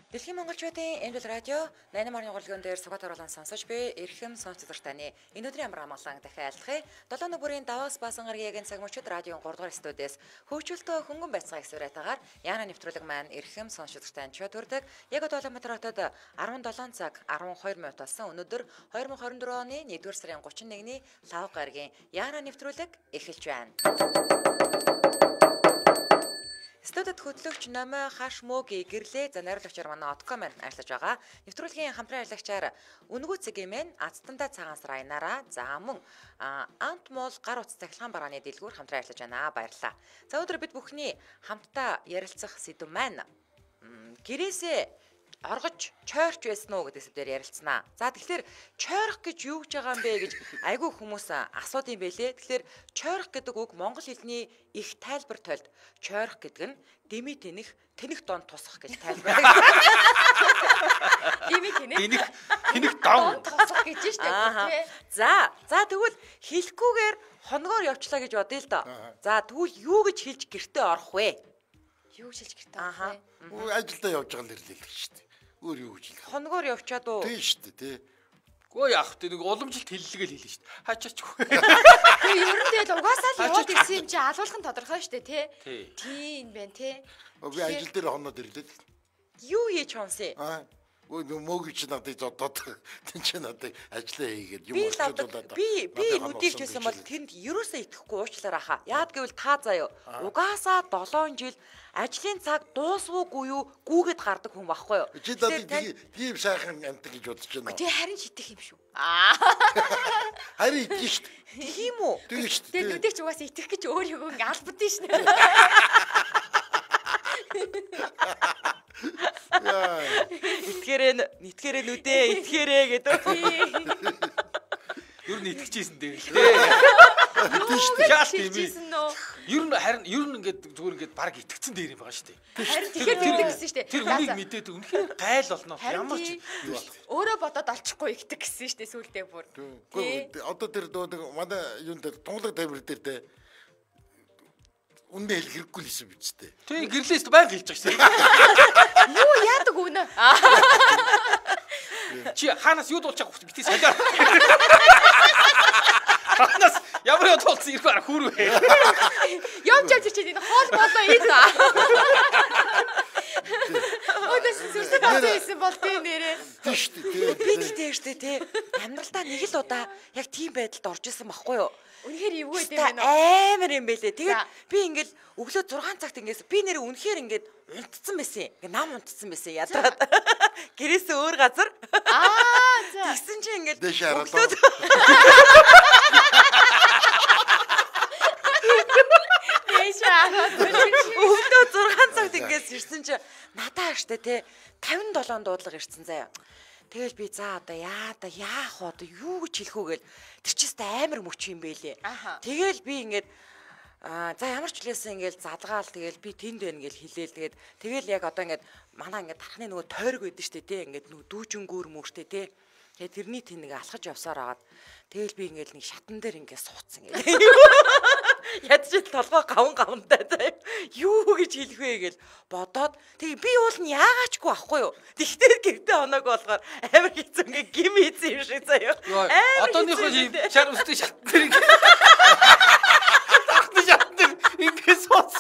Дэлхийн монголчуудын Эмдэл радио 88.1 урлагийн дээр сугат оруулан сонсож би эрхэм сонсогч таны энэ өдрийн амар амгалан дахин айлтгая. 7 нүрийн Даваас баасан гарагийн цаг мөчид радион 3 дугаар студиэс хөгжүүлтөө хөнгөн байцгаа эксператагаар Яна нэвтрүүлэг маань эрхэм сонсогч тань чөтгөрдөг. Яг Улаанбаатар хотод 17 цаг 12 минут болсон. Өнөөдөр 2024 оны 1-р сарын 31-ний лав гарагийн Яна нэвтрүүлэг эхэлж байна. Студид хөтлөгч Номой хаш мөгийн гэрлээ за найруулагчаар манай Отком маань ажиллаж байгаа. Нэвтрүүлгийн хамтран ажиллагчаар Үнгүү цэгийн Азтандаа цагаан сар аянараа за мөн Ант мол гар утас цахилгаан барааны дэлгүүр хамтран ажиллаж байна. Баярлалаа. За өдөр бид бүхний хамтдаа ярилцах сэдв маань гэрээсээ оргож чойрч байсан уу гэдэг сэдвээр ярилцсанаа. За тэгэхээр чойрох гэж юу гэж байгаа юм бэ гэж айгүй хүмүүс асуудаг юм байлээ. Тэгэхээр чойрох гэдэг үг монгол хэлний их тайлбар тойлд чойрох гэдэг нь дими тэнэх дон тусах гэж тайлбар. Дими тэнэх дон тусах гэж шүү дээ. За тэгвэл хэлэхгүйгээр хоногоор явчлаа гэж бодъё л доо. За тэгвэл юу гэж хэлж гэртээ орох вэ? Юу гэж хэлж гэртээ орох вэ? Ажилдаа явж байгаа л ирлээ шүү дээ. Өөр юу гэж хэлэх. Хоногоор явчаад уу? Тийм шүү дээ, тий. Гөө яах вэ? Нэг уламжилт хэллэгээл хэлнэ шүү дээ. Хачаач. Тэгээ ер нь тэгэл угаасаа л яваад ирсэн юм чи алуулхан тодорхой шүү дээ, тий. Тийм байна, тий. Би ажил дээр хоноод ирлээ. Юу хийж хонсон? Мөг чи надад зодод тэн чи надад ажиллаа хийгээд юм болчихлоо. Би нүдийж хэлсэн бол тэнд ерөөсөө итгэхгүй уучлаарай хаа. Яад гэвэл та заяа. Угаасаа 7 жил ажлын цаг дуусвуугүй юу гүүгээд гардаг хүн байхгүй юу? Чи надад тийм сайхан амтг гэж бодож байна. Тэг харин ч итгэх юм шүү. Харин итгэж шүү дээ. Тийм үү? Тийм шүү дээ. Тэг нүдээ ч угаасаа итгэх гэж өөрийгөө албадсан шүү дээ. Итгээрээ нүдээ итгээрээ гэдэг. Юу н итгэжсэн дээ. Яаш тийм үү? Ер нь ингээд зүгээр ингээд баг итгэцэн дээр юм байгаа шүү дээ. Харин тэгэхээр мэддэг гэсэн шүү дээ. Тэр үнийг мэдээд үнэхээр гайл болно. Ямар ч юу болох. Өөрөө бодоод олчихгүй ихдэг гэсэн шүү дээ сүулдээ бүр. Одоо тэр манай юунд тунгалаг тамир дээр те үндэ хэл хэрэггүй л юм биз дээ. Тэг гэрлээс байнга хэлж байгаа шүү. Юу яадаг үнэ? Чи хаанаас юу дуулчих вэ? Битгий салиа. Хаанаас ямар юу дуулсан ирэх арга хүрвэ? Явж чи энэ хоол болоо ий та. Өдөөс сүрсэг авсан бол тийм нэрээ. Тийм шүү дээ. Би тэгтээ штэ тий. Амьдралдаа нэг л удаа яг тийм байдалд орж исэн байхгүй юу? Үнэхээр эвгүй юм байна уу? Амар юм байлээ. Тэгээд би ингээл өглөө 6 цагт ингээс би нэр үнэхээр ингээд унтцсан байсан. Ингээ нам унтцсан байсан ядраад. Гэрээсээ өөр газар. За. Тэгсэн чи ингээд дэш хараад. Өглөө 6 цагт ингээс ирсэн чи надаа штэ тий 57 дуудлага ирсэн заяа. Тэгэл би за одоо яах вэ? Юу гэж хэлэх үү гээл тэр чи амар мөч юм бэлээ. Тэгэл би ингээд за ямар ч хүлээсэн ингээл задгаал тэгэл би тэнд байна гэл хэлээл тэгэл яг одоо ингээд манай ингээд тархны нөгөө тойрог байдэн штэ тий ингээд нөгөө дүүжингүүр мөртэй тий. Тэгээ тэрний тэн нэг алхаж явсаар агаад тэгэл би ингээд нэг шатан дээр ингээд суудсан гээл. Ядчил толгой гавантай заяа. Юу гэж хэлэх вэ гээл бодоод тэгээ би уул нь яагаачгүй ахгүй юу. Тэгтээ гэртээ оноог болохоор амар хэцүү ингээ гим хийсэн юм шиг заяа. Одооныхоо шар өстэй шатан дээр ингээ сууц.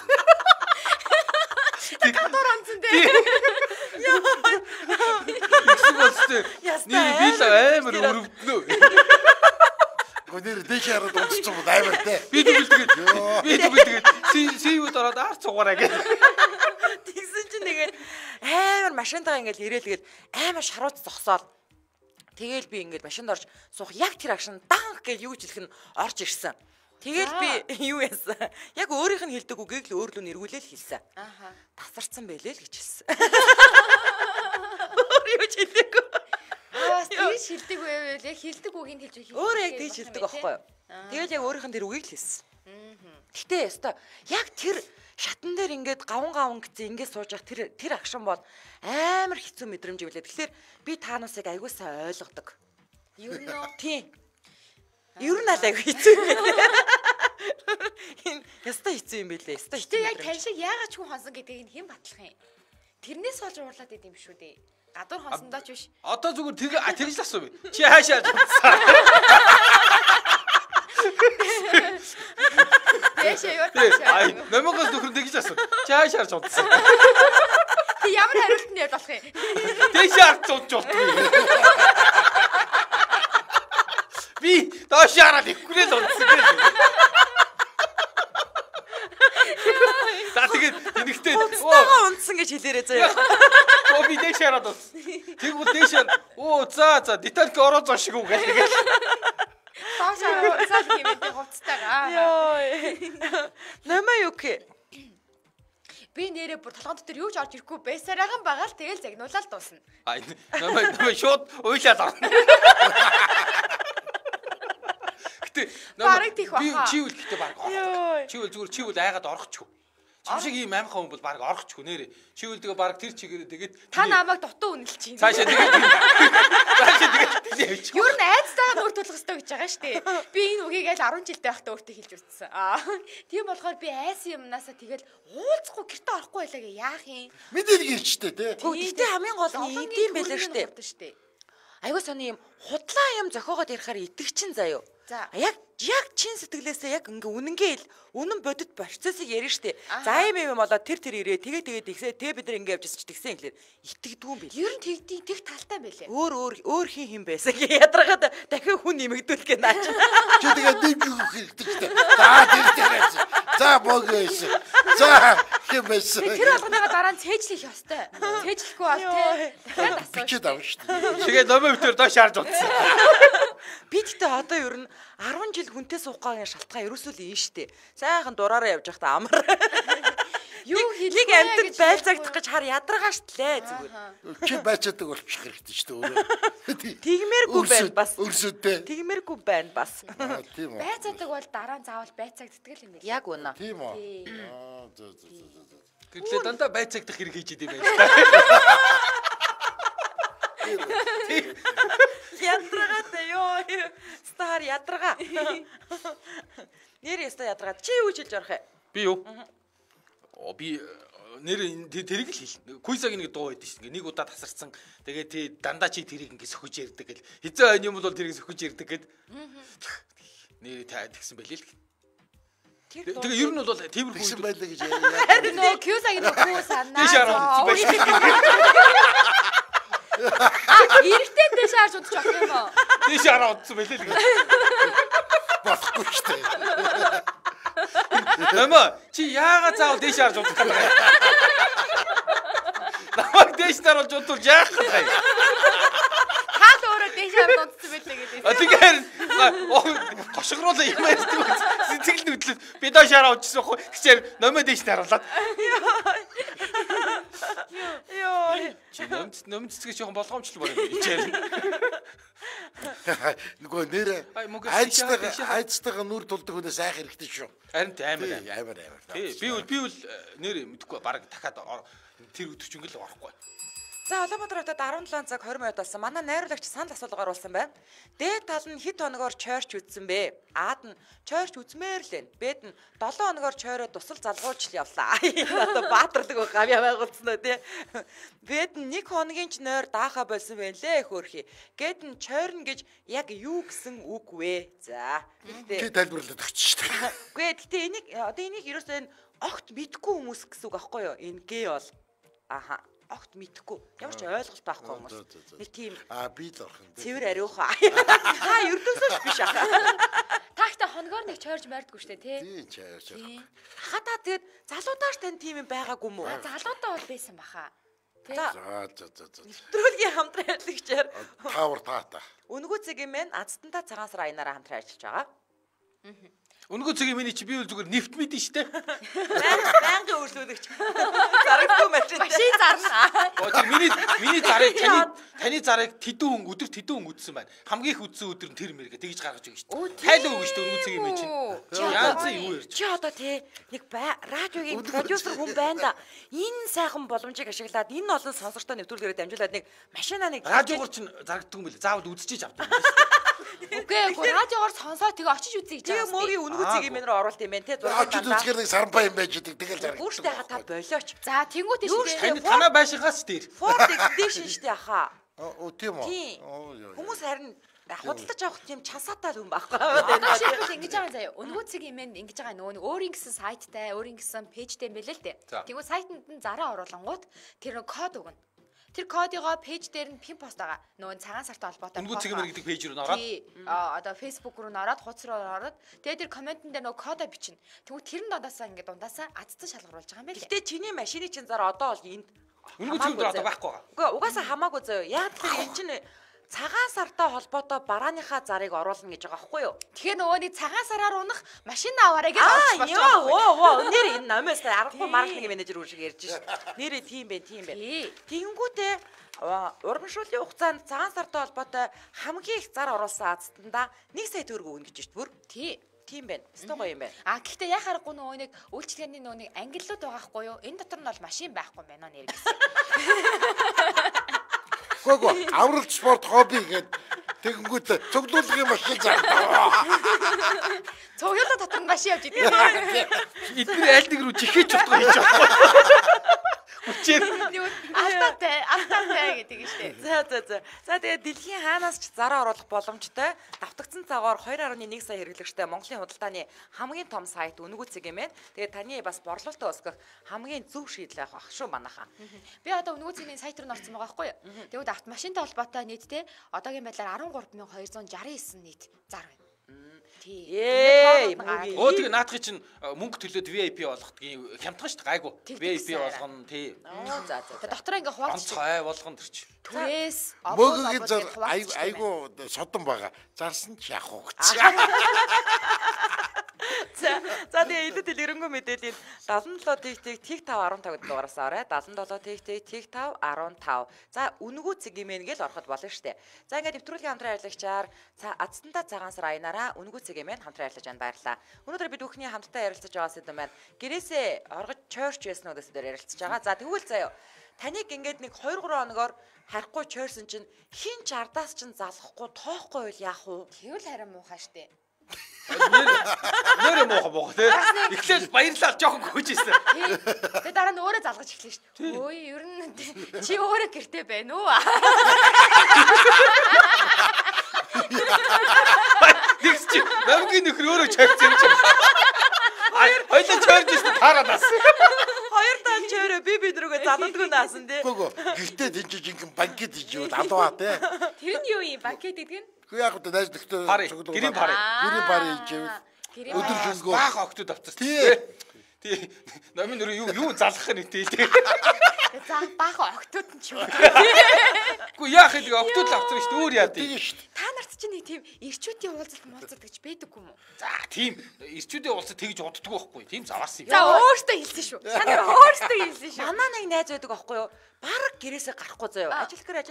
Гадуур онцон дээ. Яа. Би л амар өрөвднө. Гонэр дэш хараад унтчих юм амар те. Би тэгээд сивүүд ороод арц цугаараа гэж. Тэгсэн чинь тэгээд амар машинтаа ингээл ирээлгээд амар шарууц зогсоод тэгэл би ингээд машинд орж суух яг тэр агшин данх гэж юу ч хэлэх нь орж ирсэн. Тэгэл би юу яасан? Яг өөрийнх нь хэлдэг үгийг л өөрлөө нэргүүлээл хэлсэн. Тасарсан байлээ л гэж хэлсэн. Өөр юу ч хэлдэггүй. Тэгж хэлдэг байвал яг хэлдэг үгийг хэлж өгөх. Өөрөө яг тэгж хэлдэг байхгүй юу? Тэгэл яг өөрийнх нь тэр үгийг л хэлсэн. Гэтэ ёстой яг тэр шатан дээр ингээд гаван гэсэн ингээд сууж явах тэр агшин бол амар хэцүү мэдрэмж билээ. Тэгэхээр би та нарыг аягүй сайн ойлгодог. Ер нь тийм. Ер нь аль аягүй хэцүү юм билээ. Энэ яста хэцүү юм билээ. Яста хэцүү. Яг тань шиг яагаад ч хүн хонсон гэдгийг хэн батлах юм? Тэрнээс болж уурлаад идэм шүү дээ. Гадуур хонсондоо ч биш. Одоо зүгээр тэгж л асуу. Чи хаашаа жуудсан? Яшаа юу таашаа. Номоос нөхөр тэгж асуу. Чи хаашаа жуудсан? Тэг ямар хариулт нь яд болох юм? Дэшаар жууддаг. Би доошаараа дэвхрэл унтсан гэж. За тэгээд энэгтэй Унцтайгаа унтсан гэж хэлээрээ заяа. би дэшаараа дус. Тэгвэл дэшаар за детальк ороо зоо шиг үг гэдэг. Таашаа уцаад хэмээн хувцтайгаа. Йоо. Намаа юу гэх? Би нэрээ бүр толгойн дотор юу ч орж ирэхгүй байсараахан байгаа л тэгэл загнуулаад дуусна. Намаа шууд уйлаад орно. Гэтэ би чивэл гэтээ баг. Чивэл айгаад орохчгүй. Чимшиг ийм амархан хүн бол баг орохчгүй нэрээ. Чивэл тэгээ баг тэр чигээр тэгээд та намайг дутуу үнэлж чинь. Цаашаа тэгээд явчих. Юу н айцтайгаа нүүр тулах хэрэгтэй гэж байгаа шүү дээ. Би энэ үгийг аль 10 жилдээ байхдаа өөртөө хэлж үзсэн. Тийм болохоор би айсан юмнасаа тэгэл уулзахгүй гэртээ орохгүй байлаа гэ яах юм. Мэдээд гэрчтэй тий. Гэхдээ хамгийн гол нь идэм байлаа штэ. Айгуу сони юм худлаа юм зохиогоод ярихаар итгэчин заяо. Яг чин сэтгэлээсээ яг ингээ үнэн бодит процессыг ярина штэ. За юм болоод тэр ирээ тэгээд ихсээ бид нар ингээ явжсэн ч тэгсэн инглээр итгэдэггүй юм бэл. Ер нь тэг талтай байлээ. Өөр хин байсан. Ядаргаад дахин хүн нэмэгдүүлэх гэ наач. Чи тэгээд дэмжих хэрэгтэй. За богөөс. За хэмээс. Тэр болгоныга дараа нь цээжлэх ёстой. Цээжлэхгүй бол тий. Дахиад асууж. Бичээд авна штэ. Тэгээд номоо битэр доош харж утсан. Би тэгтээ одоо ер нь 10 жил хүнтэй суугагийн шалтгаан ерөөсөө л ийм штэ. Сайхан дураараа явж байхдаа амар. Юу хэлийг амтд байлцагдах гэж хар ядаргаа штлээ зүгээр. Чи байцаадаг болчих хэрэгтэй штэ өөрөө. Тэгмээргүй байна бас. Өрсөдөө. Тэгмээргүй байна бас. Тийм үү. Байцаадаг бол дараа нь заавал байцаагддаг юм байна. Яг үнэ. Тийм үү. Гэтэл дандаа байцаагдах хэрэг хийж идэв байж. Ядрагатай ёо. Стар ядрага. Нэр яста ядрага. Чи юу хэлж орох вэ? Би юу? Би нэр тэрийг л хэлнэ. Куйсаг нэг дуу байдаг шин. Нэг удаа тасарсан. Тэгээд дандаа чи тэрийг ингэ сөхөж ярддаг гэл. Хизээ хань юм бол тэрийг сөхөж ярддаг гэд. Нэр тэгсэн байлээ л. Тэгээ ер нь бол тиймэрхүү тэгсэн байлаа гэж яа. Нөө Кьюсагийн нөхөө санаа. Эрэгтэй дэш харж удаж авах юм уу? Дэш хараа удсан байлээ л. Болохгүй штэ. Намаа чи яагаад заавал дэш харж удах юм бэ? Намайг дэш даруулж удвал яах вэ? Хаал өөрөө дэш харж удсан байлээ гэдэг. Тэгэхээр гошгоруулаа юм ярьдаг. Сэтгэл хөдлөл би доош хараа удчихсан байхгүй. Тэгэхээр номоо дэш даруулаад. Йоо. Чи нөмцөцгөө жоохон болгоомжлол болоо ичээр. Нөгөө нэр айцтайгаа нүр тулдаг хүнээс айх хэрэгтэй шүү. Харин амар. Тий. Би бол нэр мэдхгүй баг дахиад тэр өдөрчөнгөл орохгүй. За Улаанбаатар хотод 17 цаг 20 минут болсон. Манай найруулагч санал асуулга оруулсан байна. Дээд тал нь хэд хоногоор чойрч үзсэн бэ? Аад нь чойрч үзмээр л байна. Бэд нь 7 хоногоор чойроо тусал залгуулж явлаа. Одоо баатарлаг гавья байгуулсан уу тий. Бэд нь 1 хоногийн ч нойр даахаа болсон байлээ хөөрхий. Гэд нь чойрно гэж яг юу гэсэн үг вэ? За. Тий тайлбарлаад өгч шүү дээ. Үгүй гэхдээ энийг ерөөсөө огт мэдгүй хүмүүс гэсэн үг аахгүй юу? Энэ гээ бол. Аха. Огт мэдхгүй. Ямар ч ойлголт байхгүй хүмүүс. Нэг тийм би л орох юм. Цэвэр ариуха. Ердөөсөө биш аха. Тагта хоногоор нэг чойрж мордгүй штэ тий. Тий чойрж. Хатаа тэгээд залуудааш тань тийм юм байгаагүй мүү? Залуудаа бол байсан баха. За. За. Нэвтрүүлгийн хамтран ажиллагчаар таавар таата. Үнгүү цэгийн мэн Азтантаа цагаан сар аянаараа хамтран ажиллаж байгаа. Үнгүү цэгийн миний чи би бол зүгээр нефт мэдэн штэ. Байнгын үйлчлүүлэгч. Зарагдгүй машин. Машин зарна. Миний зарыг таны зарыг тэдэн хүн өдөр тэдэн хүн үдсэн байна. Хамгийн их үдсэн өдөр нь тэр мэргээ тэгж гаргаж өгнө штэ. Тайлбар өгнө штэ үнгүү цэгийн мэн чинь. Яац юу ярьж. Чи одоо тий нэг радиогийн продюсер хүн байна да. Энэ сайхан боломжийг ашиглаад энэ олон сонсогчтой нэвтрүүлгээрээ дамжуулаад нэг машина нэг радиогоор чинь зарагддаг юм билээ. Заавал үдчихэж авдаг юм Үгүй радиогоор сонсоо тэгээ очиж үзье гэж Тэгээ байгаа. мөгийн үнгүү цэгийн мэнээр оруулт юм байна те. Очиж үзэхээр нэг саранпаа юм байж идэг тэгэл зарагддаг. Гүүртэй хата болооч. За тэнгуү тийш. Таны танаа байшихаас дээр. Ford Expedition штэ аха. Оо тийм үү. Хүмүүс харин худалдаж авах тийм чансаатай хүн байхгүй. Жишээлбэл ингэж байгаа заяа. Өнгөө цэгийн мэн ингэж байгаа нөгөө өөрийн гэсэн сайттай, өөрийн гэсэн пэйжтэй юм байлээ л дээ. Тэгвэл сайтанд нь зараа оруулангууд тэр код өгнө. Тэр кодыгоо пэйж дээр нь пин пост байгаа. Нөгөө цагаан сартай холбоотой. Өнгөө цэгийн мэр гэдэг пэйж рүү ороод. Одоо Facebook руу ороод, хуудас руу ороод, тэгээд тэр комментэн дээр нөгөө кодоо бичнэ. Тэгвэл тэр нь дундаасаа азцсан шалгаруулж байгаа юм байна лээ. Гэтэ чиний машины чинь зараа одоо бол энд Өнгөө цэгийн дээр одоо байхгүй байгаа. Үгүй угаасаа хамаагүй заяа. Яг тэр энэ чинь цагаан сартай холбоотой барааныхаа зарыг оруулна гэж байгаа байхгүй юу? Тэгэхээр нөгөө нэг цагаан сараар унах машин аваарай гэж орж болж байгаа. Оо нэр энэ намаас аргагүй маркетинг менежер үр шиг ярьж шээ. Нэрээ тийм байх. Тэгэнгүүтээ урамшууллын хугацаанд цагаан сартай холбоотой хамгийн их зар оруулсан азтанда 1 сая төгрөг өгнө гэж шүү дээ. Тийм байна. Өстой гоё юм байна. Гэхдээ яа харахгүй нөгөө нэг үйлчлэгээний нөгөө нэг ангиллууд байгаа хгүй юу? Энэ дотор нь бол машин байхгүй байна нэр гэсэн. Гүг авралт спорт хобби гэдэг тэгэнгүүт цуглуулгын машин зардаа. Цуглуулга дотор нь машин явж идэг. Эдгээр аль нэг рүү жихэж чадах гэж байгаа. Хүчээр алтаатай гэдэг нь шүү дээ. За тэгээд дэлхийн хаанаас ч зараа оруулах боломжтой давтагдсан цагаар 2.1 сая хэрэглэгчтэй Монголын худалдааны хамгийн том сайт Өнгөө цэг юм байна. Тэгээд таны бас борлуулалтаа өсгөх хамгийн зөв шийдэл авах шүү манайхаа. Би одоо Өнгөө цэгийн сайт руу орсон байгаа байхгүй юу? Тэгвэл автомашинтай холбоотой нийтдээ одоогийн байдлаар 13,269 нийт зар байна. Оо тэгээ наадахын чинь мөнгө төлөөд VIP болгохдгийн хямдхан шүү дээ гайгүй. VIP болгоно тий. За. Дотор ингээ хуваалцчих. Онцгой болгоно тэр чинь. Түрээс Мөгийн зар айгу содон байгаа. Зарсан ч яах вэ гэж. За тэгээ илүү дэлгэрэнгүй мэдээлэл 77 тэг 5 15 дугаараас орой 77 тэг 5 15. За Өнгөө цэгийн мэн гэж ороход болно шүү дээ. За ингээд нэвтрүүлгийн хамтран ярилцлагчаар азтандаа цагаан сар аянараа Өнгөө цэгийн мэн хамтран ярилцаж байна баярлалаа. Өнөөдөр бид бүхний хамтдаа ярилцаж байгаа сэдв маань гэрээсээ оргож чойрч байсан уу гэсэн дээр ярилцаж байгаа. За тэгвэл заяа таныг ингээд нэг 2 3 хоногоор харахгүй чойрсон чинь хин ч ардаас чинь залахгүй тоохгүй бол яах вэ? Тэгвэл харин муухай штэ. Нэрээ муухай тий. Эхлээл баярлалаа жоохон гүйжсэн. Тэгээ дараа нь өөрөө залгаж эхлэв шүү дээ. Өө ер нь чи өөрөө гэртээ байна уу? Тэгс чи намгийн нөхөр өөрөө чойрч юм чи. Хоёулаа чойрч ирсэн таарадаас. Хоёр тал чойроо би рүүгээ заландгүй наасан тий. Гүг гэртээ тэнцэж ингээм банкет хийж юу алваа тий. Тэр нь юу юм банкет гэдэг нь? Хөө яг одоо найз нөхдөд гэрийн пари. Гэрийн пари хийжээ. Өдөр шөнөгүй баах октод авцсан тий. Намын нөр юу залгах нь тий. За баах октод нь ч юу. Үгүй яах вэ октод авцсан шүү дээ өөр яа тий. Та нарт чинь нэг тийм ирчүүдийн уулзалт гэж байдаггүй юм уу? За тийм ирчүүдийн уулзалт тэгж удддаг байхгүй. Тийм заваарсан юм. За өөртөө хэлсэн шүү. Та нар өөртөө хэлсэн шүү. Манаа нэг найз байдаг байхгүй юу? Бараг гэрээсээ гарахгүй заяа. Ажил гэр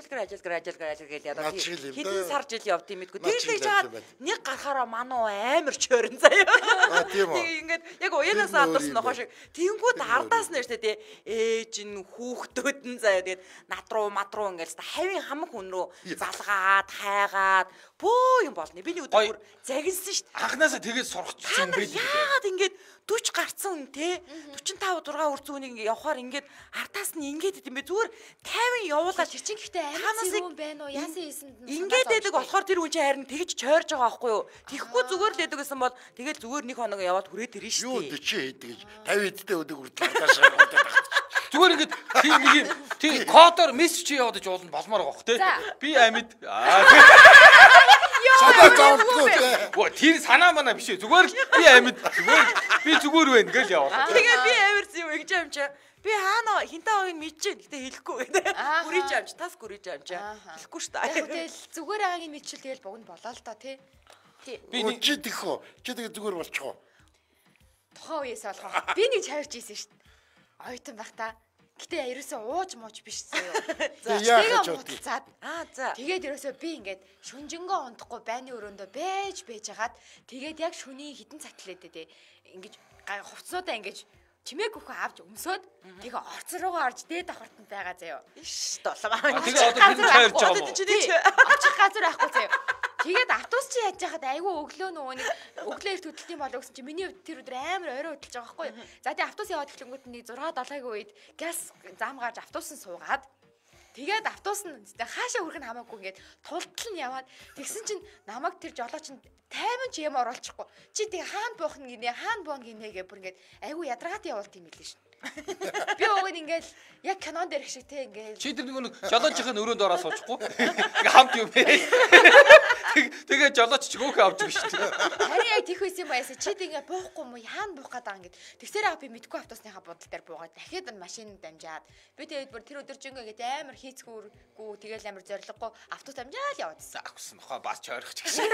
яа. Хэдэн сар жил явд юм мэдгүй. Тэгж жаад нэг гарахаараа мануу амар чойрон заяа. Тийм үү. Ингээд яг уянаас алдарсан нохоо шиг. Тэнгүүд ардаас нь штэ тий. Ээж нь хүүхдүүд нь заяа. Тэгээд над руу ингээд хавийн хамаг хүн рүү залгаад хайгаад бөө юм болно. Биний өдөр бүр загинсан штэ. Анханасаа тэгээд сурахчихсан байд. Яагаад ингээд 40 гарцсан хүн те 45 6 үрзүүнийг ингээ явахаар ингээд ардаас нь ингээд идэм бэ зүгээр 50 явуулаад чи гэхдээ амин юм байна уу яасан хийсэнд ингээд байдаг болохоор тэр хүн чинь харин тэгж чойрж байгаа байхгүй юу тэгэхгүй зүгээр л байдаг гэсэн бол тэгэл зүгээр нэг хоног яваад хүрээд ирнэ шүү дээ юу 40 хийдэг гэж 50 эдтэй өдөг хүртэл ардаас яваад зүгээр ингээд тийм нэг юм тийм кодоор мессеж яваад ч уулна болмоор байгаа хөх те би амьд санаа зовдгоо те оо тэр санаа манаа биш ээ зүгээр л би амьд зүгээр би зүгээр байна гэж яваа. Тэгээд би амарсан юм ингэж амчаа. Би хаана хинтээ хоёрыг мэдчихээн. Гэтэ хэлэхгүй гэдэг. Гүрийж амч, тас гүрийж амчаа. Хэлэхгүй шүү дээ. Тэгэл зүгээр агийн мэдчил тэгэл богино болоо л доо тий. Би нэг чи тэгхөө. Чи тэгээ зүгээр болчих уу? Тухайн үеэс болохоо. Би нэг чавирч ийсэн шүү дээ. Ойтон бах та. Гэтэ ерөөсөө ууж мууж биш заяа. За за. За. Тэгээд ерөөсөө би ингээд шүнжэнгөө унтахгүй байны өрөөндөө бэж хагаад тэгээд яг шөнийн хитэн цагт лээд дээ. Ингээд хувцсуудаа ингээд чимээг өгөх авч өмсөөд тэгээ орцсон руугаа орж дээд давхартанд байгаа заяа. Иш толгоо. Тэгээ одоо би чойрж байгаа юм уу? Очих газар байхгүй заяа. Тэгээд автобус чи яаж яхад айгүй өглөө нөгөө нэг өглөөр хөдөлт юм болоо гэсэн чи миний тэр өдөр амар орой хөдөлж байгаа байхгүй юу. За тэгээд автобус яваад эхлэнгүүт нэг 6-7-гийн үед газ зам гарч автобус нь суугаад тэгээд автобус нь хаашаа хүрэх нь хамаагүй ингээд тултал нь яваад тэгсэн чинь намайг тэр жолооч нь тайван ч юм оруулчихгүй. Чи тэг хаана буух нь гинэ хаана буун гинэ гэ бүр ингээд айгүй ядаргаат явуулт юм билээ шин. Би өгөөд ингээл яг кинон дээрх шиг те ингээл чи тэр нэг жолоочийн өрөөнд ороо суучихгүй. Ингээ хамт юм бэ. Тэгээ жолооч ч гөөхөө авч ирж шүү дээ. харин яг тийх байсан юм байсаа чи тэг ингээ буухгүй юм уу хаана буух гэдэг юм ингээд тэгсээр би мэдгүй автобусныхаа будал дээр буугаад дахиад машин дамжаад би тэгээд бүр тэр өдөржингөө ингээд амар хийцгүүргүү тэгээл амар зориггүй автобус дамжаал яваадсан. Агсан нохоо бас ч ойрох ч гэсэн.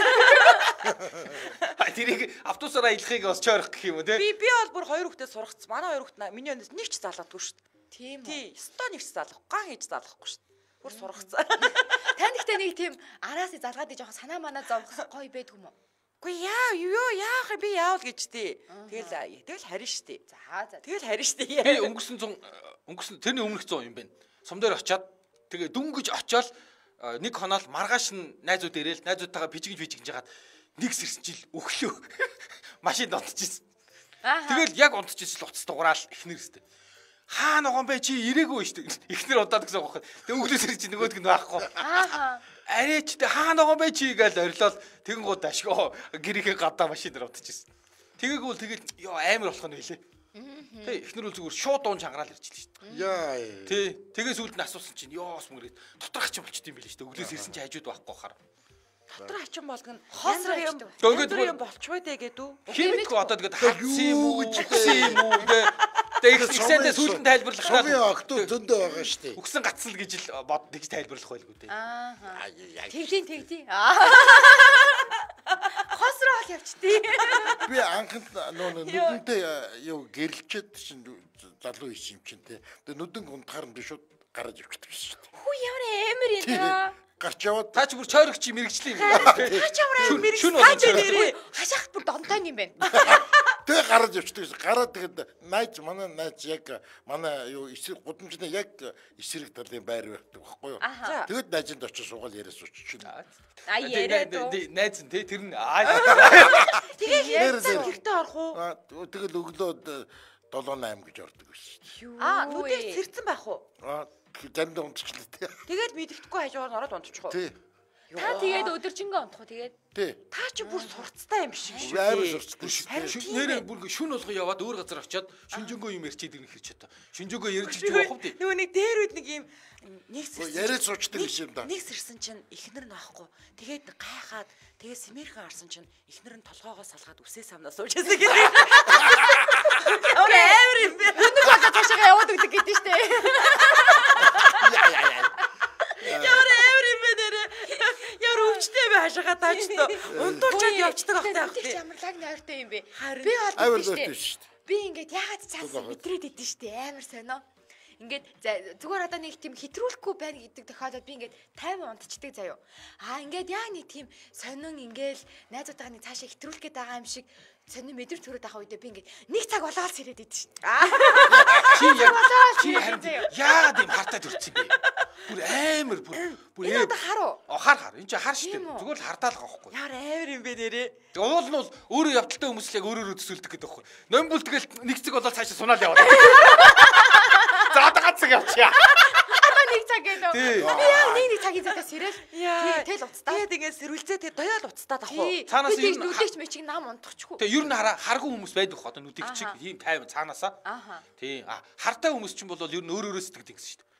Тэрийг автобусаараа илхийг бас ч ойрох гэх юм уу те. Би бол бүр хоёр хүүхдээ сургацсан. Манай хоёр хүүхд миний өнөөс нэг ч залгадгүй шүү дээ. Тийм үү. Тий, өстой нэг ч залгах, ган хийж залгахгүй шүү дээ. Бүр сургацсан. Тань ихтэй нэг тийм араас залгаад ий жоохон санаа манаа зовх гоё байдг юм уу? Үгүй яах би яавал гэж тий. Тэгэл харин штий. За. Тэгэл харин штий. Би өнгөрсөн тэрний өмнөх 100 юм байна. Сум дээр очиад тэгээ дүнгэж очиод нэг хоноол маргааш нь найзууд ирээл найзуудтайгаа бижигж жагаад нэг сэрсчил өглөө машинд унтчихсэн. Тэгэл яг унтчихсэн л уцс дуграал эхнэр өстэй. Хаа ногоон бэ чи ирээгүй шүү дээ. Эхнэр удаад гэсэн бохоо. Тэг өглөө сэрч нөгөөдг нь байхгүй. Арээч тэ хаа ногоон бэ чи гээл орилол тэгэн гууд ашгаа гэрийнхээ гадаа машин дээр унтчихсэн. Тэгээгүүл тэгэл ёо амар болох нь байлээ. Тэ эхнэр үл зүгээр шууд дуун чангараал ирчихлээ шүү дээ. Яа. Тэ тэгээс үлд нь асуусан чинь ёос мөрөөд доторх хачин болчт юм билээ шүү дээ. Өглөөс ирсэн чи хажууд байхгүй хахаар. Дотор хачин болгоно. Хоосроо юм. Ингээд юм болчихвоо дээ гэдүү. химик одоо тэгээд хатсан юм уу гэсэн юм уу тэгсэндээ сүлдэн тайлбарлах Сумын октоо зөндөө байгаа шүү дээ. үгсэн гацсан л гэж л бод тэгж тайлбарлах байлгүй дээ. Тэгдийн. Хосроо л явчтий. Би анхнд нүдэнтэй юу гэрэлчээд чинь залуу хийсэн юм чинь те. Тэгээ нүдэн унтахаар нь би шууд гараж явчихдаг шүү дээ. Хүү ямар амар юм да. Гарч яваад Та ч бүр чойрогч мэрэгчлээ юм. Таач ямар мэрэг Шүн нэрээ. Хашаахт бүр донтой юм байна. тэгээ гараж явчихдаг. Гараад тэгээд манай найз яг манай юу эсрэг гудамжны яг эсрэг талын байр байдаг байхгүй юу. Тэгээд найзанд очиж суугаад яриа суучихна. Яриад уу. Найз нь те тэр нь Тэгээ хэрэгтэй орох уу? Тэгэл өглөө 7-8 гэж ордог байсан. Нүдээ сэрцэн байх уу? Заримдаа унтчихлаа тий. Тэгээд мэддэхгүй хажуугаар нь ороод унтчих уу? Тий. Та тэгээд өдөржингөө унтах уу тэгээд? Тий. Та чи бүр сурцтай юм шиг шүү. Амар сурцтай шүү. нэрээ бүр шүн болгоо яваад өөр газар очиод шүнжэнгөө юм ярьчихэд ирэх хэрэг чата. Шүнжэнгөө ярьж явах вэ? Нөгөө нэг дээр үед нэг юм нэг яриад суучдаг юм да. Нэг сэрсэн чинь эхнэр нь аахгүй. Тэгээд гайхаад тэгээд сэмэрхэн арсан чинь эхнэр нь толгоогоо салгаад үсээ самнаа сууж байсан гэдэг. Амар юм бэ. Өнөг болоо цаашаа яваад өгдөг гэдэг штэ. Ямар амар юм бэ нэрээ. Ямар өвчтэй бай хашаага таачдаа. Унтуулчаад явцдаг ахтай ахтай. Ямар лаг нойртой юм бэ? Амар Би бол лойртой штэ. шүү дээ. Би ингээд ягаад цаасан мэдрээд идэв штэ амар сонио. Ингээд зүгээр одоо нэг тийм хэтрүүлэхгүй байна гэдэг тохиолдолд би ингээд 50 унтчдаг заяо. Ингээд яг нэг тийм сонин ингээл найзуудтайгаа нэг цаашаа хэтрүүлэх гээд байгаа юм шиг сонин мэдэр төрөд байгаа үедээ би ингээд нэг цаг болоод сэрээд идэв штэ. Чи яагаад юм хартаа төрчихсөн бэ? Бүр амар бүр Энэ одоо хар уу? Хар. Энд чи хар шүү дээ. Зүгээр л хартаал байгаа байхгүй. Ямар амар юм бэ нэрээ. Уул нь бол өөрөө явдалтай хүмүүс л яг өөрөөрөө төсөөлдөг гэдэг байхгүй. Номбол тэгэл нэг цаг болоод цаашаа сунаал яваад. За одоо ганцаг явчихъя. Одоо нэг цаг гэлөө. Би яг нэг цагийн цагаас сэрэл. Тэгэл уцтаа. Тэгээд ингээд сэрүүлзээ тэгээд доёол уцтаад ах уу. Цаанаас юу нүдэгч мэчиг нам унтчихгүй. Тэгээ ер нь харгүй хүмүүс байдаг хоо одоо нүдийг чиг ийм тайван цаанаасаа. Тий. Хартай хүмүүс ч юм бол ер нь өөрөөрөө сэтгэдэг гэсэн шүү дээ.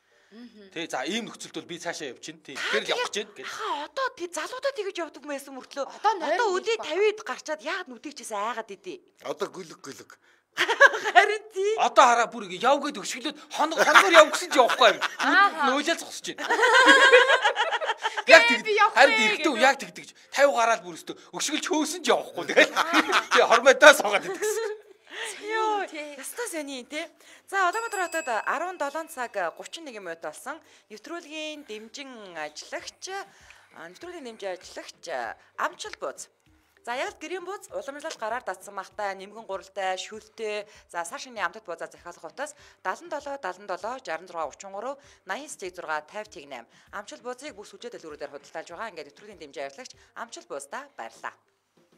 Тий. За ийм нөхцөлд бол би цаашаа явчихна. Тий. Тэгэхээр явах гэж байна. Одоо тий залуудаа тэгэж явдаг байсан мөртлөө. Одоо өдөө 50-д гарчаад яагаад нүдэгчээс айгаад идэ. Одоо гүлэг. Харин тий. Одоо хараа бүр яв гээд өшгөлөөд хоногоор яв гэсэн чи явахгүй юм. Нөөлөл зогсож байна. Яг харин ихтэй яг тэгдэг. 50 гараад бүр өстө өшгөлж хөөсөн ч явахгүй. Тэгээ хормойдоо суугаад идэгсэн. Йоо, ястаа сони тий. За Улаанбаатар хотод 17 цаг 31 минут болсон. Нэвтрүүлгийн дэмжин ажиллагч Амчил бууз За яг гэрийн бууз уламжлалт гараар датсан махтай, нэмгэн гуралтай, шүлтэй, за сар шинийн амтд буузаа захиалах утас 77 77 66 33 89 6 50 8 амчил буузыг бүх сүлжээ дэлгүүрүүдээр худалдаалж байгаа. Ингээд нэвтрүүлгийн дэмжээ ажиллагч амчил буузда баярлаа.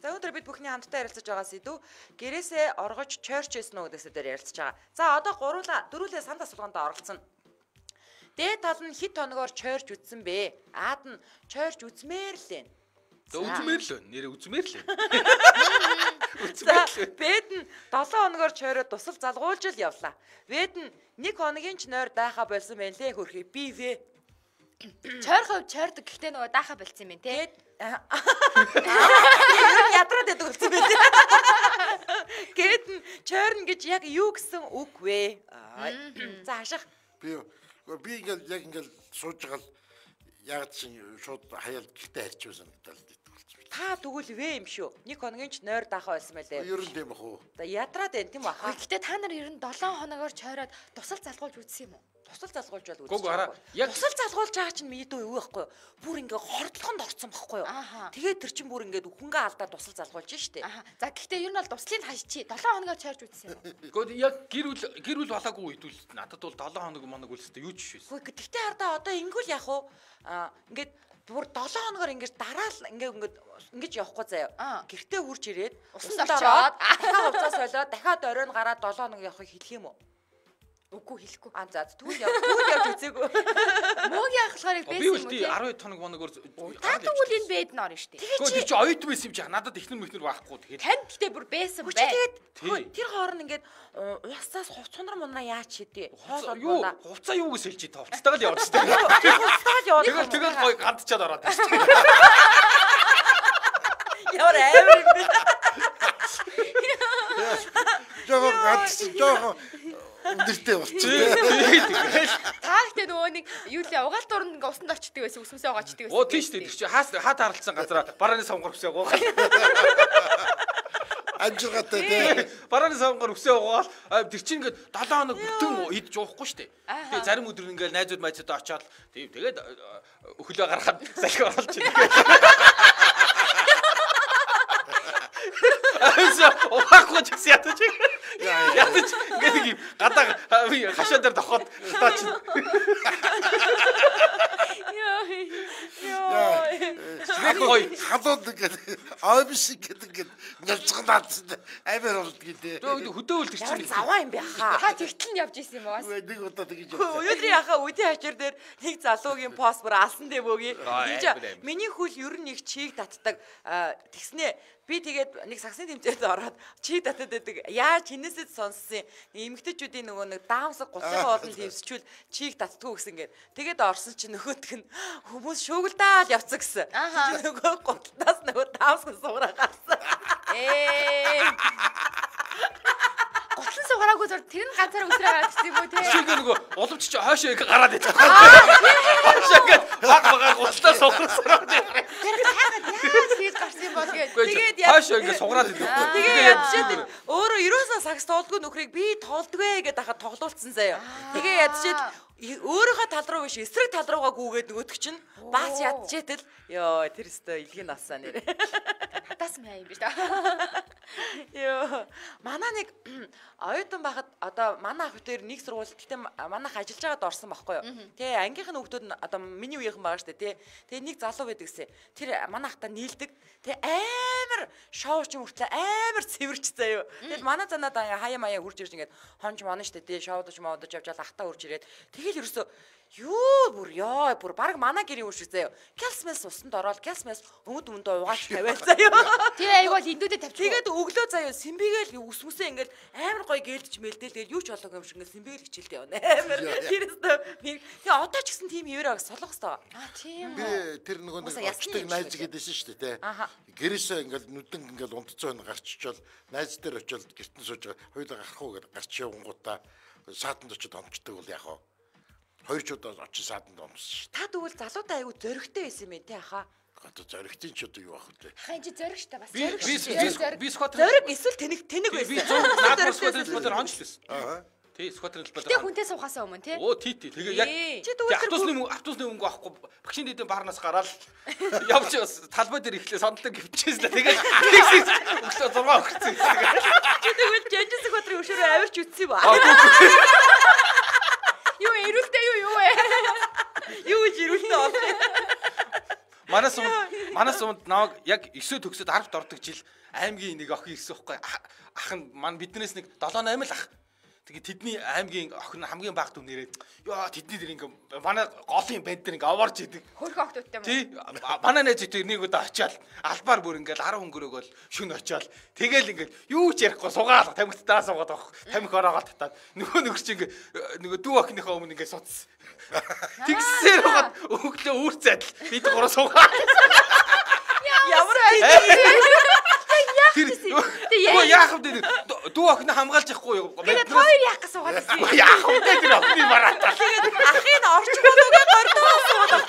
За өнөөдөр бид бүхний хамтдаа ярилцаж байгаа сэдв гэрээсээ оргож church эснэ гэдэгсээр ярилцаж байгаа. За одоо дөрвөлээ санд асуулганд оролцсон. Дээд тал нь хэд хоногоор church үтсэн бэ? Аад нь church үзмээр л байна. Үзмээр л нэр үзмээр л. За бэд нь 7 хоногоор чойроо тусал залгуулж л явлаа. Бэд нь 1 хоногийн ч нойр дайха болсон байна лээ хөрхий. Би вэ. Чойрхов чойрдог гэхдээ нөгөө дайха болцсон юм байна те. Ядраад байдаг болсон байх. Гэт нь чойрн гэж яг юу гэсэн үг вэ? За хаших. Би ингээл яг ингээл сууж байгаа л яг чинь шууд хаяал гихтэй харьж байсан гэдэг л болсон. Та тэгвэл вэ юм шүү. 1 хоногийн ч нойр даахаа байсан байлээ. Ер нь тийм ах уу. За ядраад байна тийм баха. Гэхдээ та нар ер нь 7 хоногоор чойроод тусал залгуулж үзсэн юм уу? Тусал залгуулж бол Гүг хараа. Яг тусал залгуулж байгаа чинь мэдээ юу байхгүй юу? Бүр ингээ хордлохонд орцсон байхгүй юу? Тэгээд тэр чинь бүр ингээ хүнгээ алдаад тусал залгуулж штэ. За гэхдээ ер нь бол туслыг хашчи 7 хоногоор чойрж үзсэн юм уу? Гэхдээ яг гэр бүл болоогүй үед үл надад бол 7 хоног үлстэй юу ч биш байсан. Гэхдээ гэхдээ хардаа одоо ингүүл яах вэ? Ингээд бүр 7 хоногоор ингээд дараал ингэж явахгүй заяа. Гэртээ хурж ирээд усанд очоод дахиад хувцас солиод дахиад оройн гараад 7 хоног явахыг хэлэх юм уу? Үгүй хэлэхгүй. За тэгвэл явж үзээгүй. Мөөгийн ахлахаарыг байсан юм уу? Би 12 хоногоор та тэгвэл энэ бэд нь орно штэ. Гэхдээ чи оюут байсан юм чи надад ихнэр мэхнэр байхгүй тэгээд. Танд гэхдээ бүр байсан бай. Тэгээд тэр хооронд ингээд уусаас хувцсунар мунаа яач хийдэ. Юу хувцаа юу гэж хэлж та хувцтайгаа л яваад штэ. Хувцтайгаа л яваад. Тэгэл гой гандчаад ороод штэ. Ямар амар юм бэ? Жоо гандч өндөртэй болчихсон. Та ихтэй нөгөө нэг юу лээ угаалт уранд ингээ усанд очдөг байсан үсмэсээ угаачдаг байсан. Оо тийш дээ. Тэр чи хаа тааралцсан газараа барааны савгаар үсээ угаал. Анжиргатай тий. Барааны савгаар үсээ угаал. Тэр чи ингээ 7 хоног бүтэн идж уухгүй штэ. Тэгээ зарим өдөр ингээ найзууд майзуудаа очиод тэгээд өхлөө гаргахад салхи оруулж байна. Угаахгүй ч гэсэн ятаж. Ятаж гэдэг юм. Гадаа хашаа дээр тохоод таач. Халууд гэдэг ойбш гэдэг нэлцгнаад амар болдгийг дээ. Хөдөөвөл тэр чинь заваа юм бэ хаа. Та тэгтэл нь явж исэн юм уу? Нэг удаа тэгж явсан. Өнөөдрийн яхаа үдийн хачир дээр нэг залуугийн пост бүр алсан дээ бөөгийн. Миний хөл ер нь нэг чийг татдаг. Тэгснээ би тэгээд нэг сагсны тэмцээнд ороод чийг татаад байдаг. Яаж хинээсээ сонссон эмэгтэйчүүдийн нөгөө нэг даамсаг гутлын болон твсчүүл чийг татдгүй гэсэн гээд тэгээд орсон чинь нөгөөтг нь хүмүүс шуугилдаал явцсан гэсэн. Нөгөө гутлаас нөгөө даамсаг суураа гарсан. Гутлан сугараагүй зур тэр нь ганцаар өсрөө гараад ирсэн юм уу те? Шиг нөгөө уловч чи хаашаа их гараад ирсэн. Хаашаа гээд баг гутлаа сугарсараа. Тэр хайгаад яаж хийж гарсан юм бол тэгээд хаашаа ингэ сугараад ирсэн. Тэгээд ядчихэд өөрөө ерөөсөө сакс тоолдгүй нөхрийг би тоолдгүй гэдээ хахад тоглуулсан заяа. Тэгээд ядчихэд өөрийнхөө тал руу биш эсрэг тал руугаа гүгээд нөгөөдөг чинь баач ядчихэд л ёо тэр өстө илгийн нассаа нэр. Хатаас маяа юм биш та. Ёо манай нэг оюутан байхад одоо манай ах дээр нэг сургууль гэхдээ манайх ажиллаж байгаад орсон байхгүй юу. Тэ ангийнх нь хүүхдүүд нь одоо миний үеийнхэн байгаа штэ тэ. Тэгээ нэг залуу байдаг гэсэн. Тэр манай ахта нийлдэг. Тэ амар шоу ч хүртэл амар цэвэрч заяа. Тэгэл манай занаад хаяа маяа хурж ирж ингээд хонж монно штэ тэ шоудож модож явжал ахта хурж ирээд тэгэл ерөөсөө юу бүр баг манай гэрийн үе шиг заяа. Калсмес усанд ороод калсмес өмд угаач тавиал заяа. Тэ айвал эндүүдээ тавьчих. Тэгээд өглөө заяа симбигээл үсмүсээ ингээд амар гоё гэлдэж мэлдэл тэгээд юу ч болоогүй юм шиг ингээд симбигээл хичээлтэй явна. Амар тэрээсээ тэгээ одоо ч гэсэн тийм евроо солих хэвээр. Тийм. Би тэр нөгөө нэг очтыг найз гэдээсэн шүү дээ те. Гэрээсээ ингээд нүдэн ингээд унтцоо гарчичвал найз дээр очиод гэртэн сууж байгаа. Хоёулаа гарах уу гэдээ гарч явангуудаа саатанд очиод онцдог бол яах вэ? Хоёр ч удаа очиж саатанд онцсон шүү. Та тэгвэл залуудаа айгу зөрөгтэй байсан юм те хаа. Одоо зөрөгтийн ч одоо юу ах вэ? Хаа чи зөрөг штэ бас. Би скватер зөрөг эсвэл тэнэг байсан. Би наад скватер онцлсон. Тий, скватер хэлбэл. Тэ хүнтэй суухаасаа өмнө тий. Оо тий. Тэгээ яг автобусны мөнгө авахгүй багшийн дэдэн баарнаас гараад явж талбай дээр ихлээ сондлоо гівчээс л тэгээд өглөө 6 өгсөн. Чи тэгвэл Жанжис Баатрын өшөөрөө авирч үтсэн юм аа. Юу ирүүлтэй юу вэ? Юу гэж ирүүлтэй болох юм. Манаас унд наваг яг 9 төгсөд 10-д ордог жил аймгийн нэг охин ирсэн байхгүй. Ах нь мань биднээс нэг 7-8 л ах. Тэгээд тэдний аймгийн охин хамгийн бага дүү нэрээд ёо тэдний дэр ингээ манай голын банд дэр ингээ аварж идэг. Хөрх охтуудтай мөн. Тий. Манай найз ихтэй нэг удаа очиад албаар бүр ингээл 10 хөнгөрөөгөл шүн очиад тэгэл ингээл юу ч ярихгүй сугаал тамхит дараа суугаад авах. Тамхи ороогоо татаад нөгөө чи ингээ нөгөө дүү охиныхоо өмнө ингээ суцсан. Тэгсээр хаад өглөө үүр зайдал бид гурав суугаад. Ямар яах вэ? Дүү охин хамгаалж явахгүй юу? Тэгээд хоёр яах гэж суугаад байсан. Яах вэ? Тэр охины мараатаа. Тэгээд ахын орчгоногийн гордоо суугаад.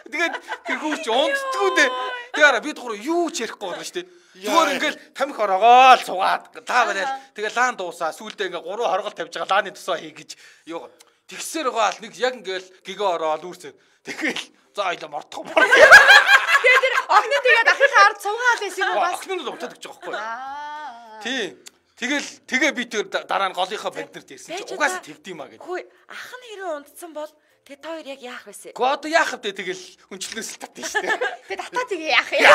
Тэгээд тэр хүүч унддгүү дээ. Тэгээд бид гурав юу ч ярихгүй байна шүү дээ. Зүгээр ингээл тамхи ороогоо л суугаад лаа барайл. Тэгээд лаан дуусаа сүүлдээ ингээ 3 хоргол тавьж байгаа лааны тусаа хий гэж юу. Тэгсээр байгаа л нэг яг ингээл гигэ ороод үүрсээ. Тэгэл за ойлоо мордох. Тэгээд тэр охин тэгээд ахихаа ард суугаад байсан юм бас. Охин нь утаад гэж байгаа байхгүй. Тий. Тэгээ би тэр дараа нь голынхаа банднерт ирсэн чи угаасаа тэгдэм аа гэдэг. Хөөе, ах нь хэрэг унтсан бол тэг та хоёр яг яах вэ? Гоо одоо яах вэ? Тэгэл хүнчлэнээс л татна шүү дээ. Тэгээд татаа тэгээ яах юм?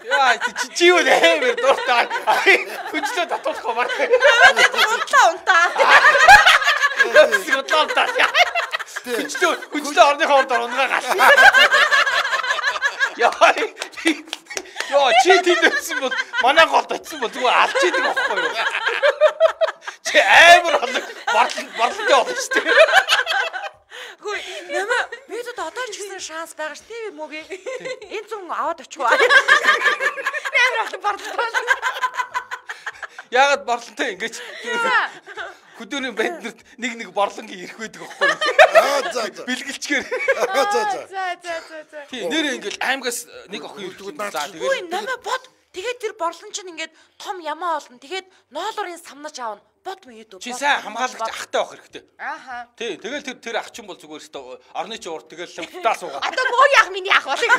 Яа, чи юу нээр дуртай. Хүнчлээ татуулах баар. Унтаа. Сиготлаа. Хүнчлээ орныхоо орд унгаа гал. Яа, чи тэнд өссөн бол манай голд очсон бол зүгээр алж идэг байхгүй юу? Чи амар борлонтой болно шүү дээ. Хөөе, нэмэ бид одоо ч гэсэн шанс байгаа ш тийм үү гээ. Энэ зүн аваад очихгүй. Амар борлонтой. Яагаад борлонтой ингэж хөдөөний банднерт нэг борлонгийн ирэх байдаг байхгүй юу? За. Бэлгэлчгээр. За. Тийм нэр ингээл аймгаас нэг охин ирдэг за тэгээд Хөөе, нэмэ бод. Тэгээд тэр борлон чинь ингээд том ямаа олно. Тэгээд ноолорын самнаж аавна. Бод мөн юу? чи сайн хамгаалагч ахтай байх хэрэгтэй. Ааха. Тий, тэгэл тэр ах чинь бол зүгээр өстө орны чи урд тэгэл лавтаа суугаа. Одоо муу яах миний ах болыг.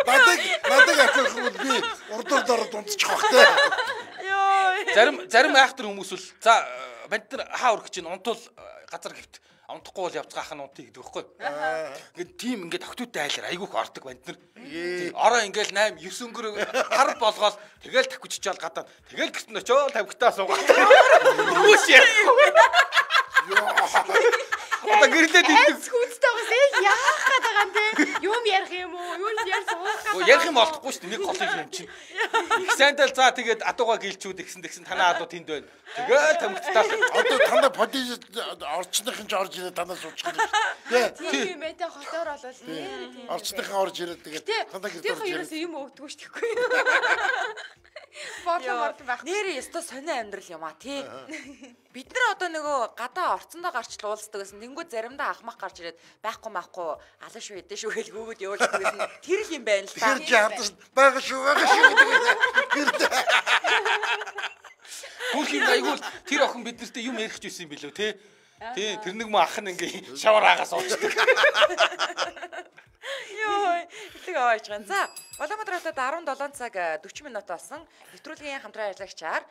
Надад ахих бол би урдаар дундчих бахтай. Йоо. Зарим айхтар хүмүүс бол за банд нар хаа өрөх чинь унтвал газар гэвт унтахгүй бол явцгаах нь унтыг гэдэг байхгүй. Ингээд тийм ингээд охтуудтай айлаар айгүйх ордог банд нар. Ороо ингээл 8 9 өнгөр хар болгоол тэгэл тавьчихчаал гадаа. Тэгэл гэрт нь очиол тавьгтаа суугаад. Хүмүүс яах. Одоо гэрлээд идэх. Хүнстэй байгаа яах гээд байгаа юм те. Юм ярих юм уу? Юу ярих суух. Ярих юм олдохгүй шүү дээ. Нэг голыг юм чинь. Их сайнтал за тэгээд адууга гэлчүүд тэгсэн танаа адуу тэнд байна. Тэгэл тамхитаа. Одоо танаа подиж орчныхын ч орж ирээд танаа суучих юм. Тийм юм ээ хотоор болол нэр тийм. Орчныхын орж ирээд тэгээд танаа гэрт орж ирээд. Тийм юм өгдөггүй шүү дээ. Борлон байх. Нэр ёстой сонио амьдрал юм а тий. Бид нар одоо нөгөө гадаа орцондоо гарч уулздаг гэсэн. Тэнгүү заримдаа ахмах гарч ирээд байхгүй алан шүү эдэн шүү гэж гүгүүд явуулдаг гэсэн. Тэр л юм байна л та. Тэр чи хадаж байгаа шүү гэдэг. Бүх юм айгуул тэр охин биднэртээ юм ярих ч байсан юм билүү те. Тий, тэр нэг мөн ах нь ингээ шавар агаас уучдаг. Йоо, тэг аваач гэн. За, Улаанбаатар хотод 17 цаг 40 минут болсон. Нэвтрүүлгийн хамтран ажиллагчаар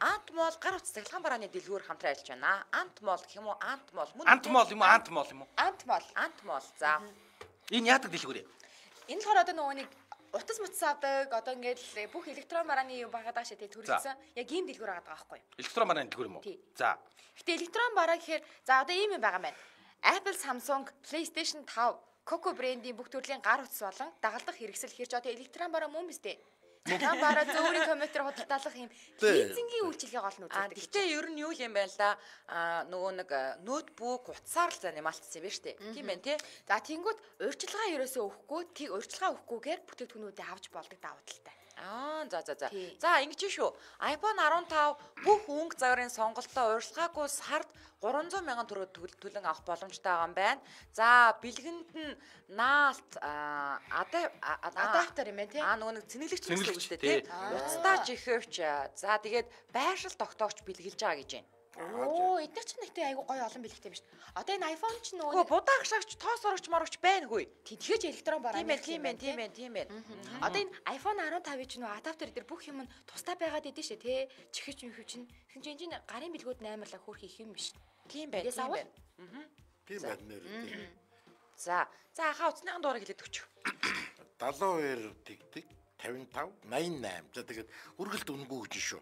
Ант мол гар утас цахилгаан барааны дэлгүүр хамтран ажиллаж байна. Ант мол гэх юм уу? Ант мол мөн. Ант мол юм уу? Ант мол юм уу? Ант мол. За. Энэ яадаг дэлгүүр юм? Энэ болохоор одоо нөгөө нэг утас мутас авдаг одоо ингээд бүх электрон барааны юу байгаа даа шээ төрөлсөн. Яг ийм дэлгүүр байгаа байхгүй юу? Электрон барааны дэлгүүр юм уу? За. Гэтэ электрон бараа гэхээр за одоо ийм юм байгаа маань. Apple, Samsung, PlayStation 5 Coco брендийн бүх төрлийн гар утас болон дагалдах хэрэгсэл хэрч одоо электрон бараа мөн биз дээ. Электрон бараа зөөрийн компьютер худалдаалах юм лизингийн үйлчилгээ гол нь үздэг. Гэхдээ ер нь юу юм байна л да нөгөө нэг ноутбук утсаар л занималтсан юм байна шүү дээ. Тийм байна тий. За тэнгууд урьдчилгаа ерөөсөө өгөхгүй, тийг урьдчилгаа өгөхгүйгээр бүтээгдэхүүнүүдээ авч болдог давуу талтай. За ингэж шүү. iPhone 15 бүх өнгө загварын сонголтоо урьдчилгаагүй сард 300 мянган төгрөг төлөн авах боломжтой байгаа юм байна. За бэлгэнд нь наалт адаптер юм байна тий. Нөгөө нэг цэнэглэгч гэсэн үг шүү дээ тий. Уцтаа жихвч. За тэгээд байршил тогтоогч бэлгэлж байгаа гэж байна. Эдгээр чинь нэгтэй айгу гоё олон бэлгтэй юм шүү. Одоо энэ iPhone ч нөгөө будаа агшаагч тоос орогч морогч байна хөөе. Тэгэхэж электрон бараа. Тийм ээ. Одоо энэ iPhone 15 чинь нөгөө адаптер дээр бүх юм нь тусдаа байгаад идэв шээ тий. Чихэж юм чинь. Тэгсэн чинь гарын бэлгүүд 8 хөөх их юм биш. Тийм байна. Тийм байна. За хаа уцсныхан дуурайг хэлээд өгч. 72 тэгтэг 55 88. За тэгээд үргэлт үнгүй гэж шүү.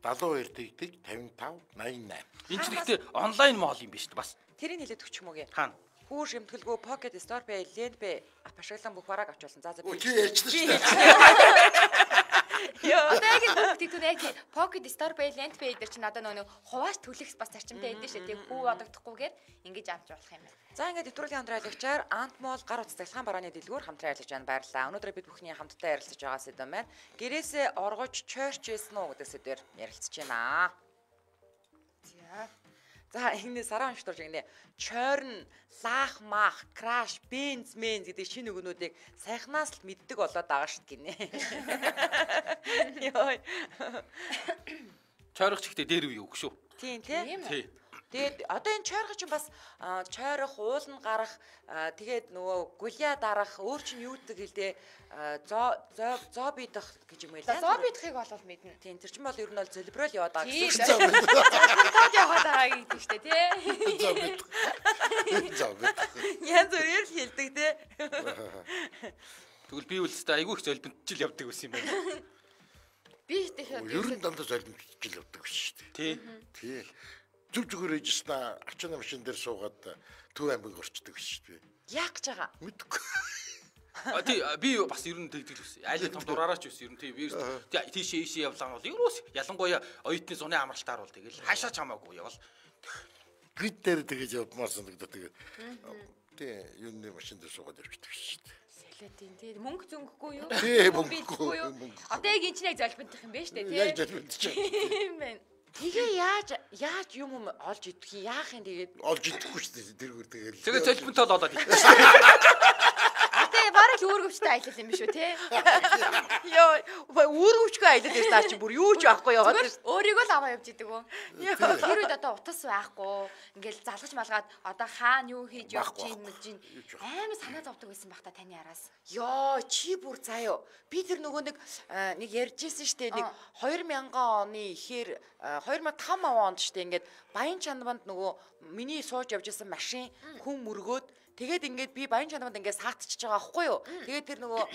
72 тэгтэг 55 88. Энэ ч ихтэй онлайн моол юм биш үү бас. Тэрийг хэлээд өгч юм уу гээ. Хаана? Хүү шимтгэлгүй Pocket Store Pay, Lend Pay ап ашиглан бүх бараг авч болсон. За би ярьчихсан шүү дээ. Одоо яг энэ бүгдийг яг Pocket Store Pay, Lend Pay дээр чинь одоо нөгөө хувааж төлөх бас зарчимтай байдаг шүү дээ. Хүү одогдохгүйгээр ингэж авч болох юм байна. За ингээд нэвтрүүлгийн хамтраалагчаар Антмол гар утас цахилгаан барааны дэлгүүр хамтран ажиллаж байна. Баярлалаа. Өнөөдөр бид бүхний хамтдаа ярилцаж байгаа сэдв маань гэрээсээ оргож church хийсэн үү гэдэг сэдвээр ярилцаж байна. За энэ сараа уншдурж гинэ. Чойрн, лаах мах, краш, бенз гэдэг шинэ үгнүүдийг сайхнаас л мэддэг болоод байгаа шүү гинэ. Йой. Чойрох чихтэй дээр үе үг шүү. Тийм. Тэгээд одоо энэ чойрох чинь бас чойрох, уулн гарах, тэгээд нөгөө гулиа дарах, өөр чинь юу гэдэг хэлдэ зоо бидах гэж юм байлаа. Зоо бидахыг болов мэднэ. Тийм тэр чинь бол ер нь бол зөлбрөөл яваад байгаа гэсэн. Зөлбрөөл яваад байгаа гэдэг шүү дээ, тий. Зоо бидах. Ян зүрээр л хэлдэг тий. Тэгвэл би үлдээ айгүй их зөлбөнтжил явдаг байсан юм байна. Би тэгэхээр ер нь дандаа зөлбөнтжил явдаг биш шүү дээ. Тий. Зүг зүгээр ээжснаа ачааны машин дээр суугаад Төв аймаг орчдөг шүү дээ. Яах гэж байгаа? Мэдгүй. Тий би бас ер нь тэгдэг л байсан. Айл том дураараач байсан. Ер нь тий тийшээ явлаа бол ерөөс ялангуяа оюутны зуны амралтаар бол тэгэл хаашаа ч хамаагүй явал. Гид дээр тэгэж явмаар санагдаад тэгээд тий юуны машин дээр суугаад явчихдаг шүү дээ. Солиотын тий мөнгө зөнгөхгүй юу? Тий мөнгөгүй юу? Одоо яг энэ чинь яг золбонтох юм байна шүү дээ тий. Яг золбонтчих. Тийм байна. Тэгээ яаж юм олж идэх юм яах юм тэгээд олж идэхгүй шүү дээ тэргээр тэгэл. Тэгээ золбонтол болоод идэх. Бараг л үүргэвчтэй аялал юм биш үү те? Йоо, үүргэвчгүй аялал дээр наа чи бүр юу ч байхгүй яваад байна. Өөрийгөө л аваа явж идэг үү? Тэр үед одоо утас байхгүй. Ингээл залгаж малгаад одоо хаана юу хийж явж ийн амар санаа зовдөг байсан бах та таны араас. Йоо, чи бүр заяа. Би тэр нөгөө нэг ярьжсэн штэ нэг 2000 оны ихээр 2005 онд штэ ингээд Баян Чанбанд нөгөө миний сууж явж исэн машин хүн мөргөөд тэгээд ингээд би Баян Чанбанд ингээд саатчихж байгаа аахгүй юу. Тэгээд тэр нөгөө